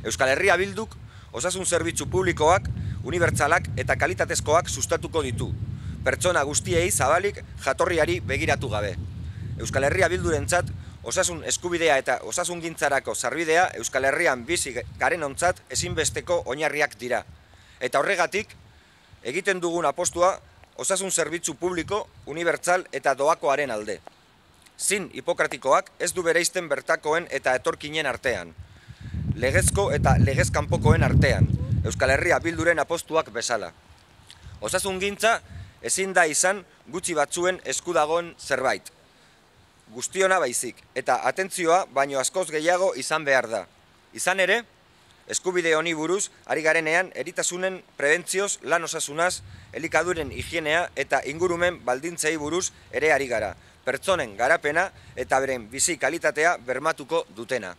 Euskal Herria Bilduk osasun zerbitzu publikoak, unibertsalak eta kalitatezkoak sustatuko ditu, pertsona guztiei zabalik jatorriari begiratu gabe. Euskal Herria Bildurentzat osasun eskubidea eta osasungintzarako sarbidea Euskal Herrian bizi garenontzat ezinbesteko oinarriak dira. Eta horregatik, egiten dugun apostua osasun zerbitzu publiko, unibertsal eta doakoaren alde. Zin hipokratikoak ez du bereizten bertakoen eta etorkinen artean, legezko eta legezkanpokoen artean, Euskal Herria Bilduren apostuak bezala. Osasungintza ezin da izan gutxi batzuen esku dagoen zerbait. Guztiona baizik, eta atentzioa baino askoz gehiago izan behar da. Izan ere, eskubide honi buruz ari garenean eritasunen prebentzioz, lan osasunaz, elikaduren higienea eta ingurumen baldintzei buruz ere ari gara, pertsonen garapena eta beren bizi kalitatea bermatuko dutena.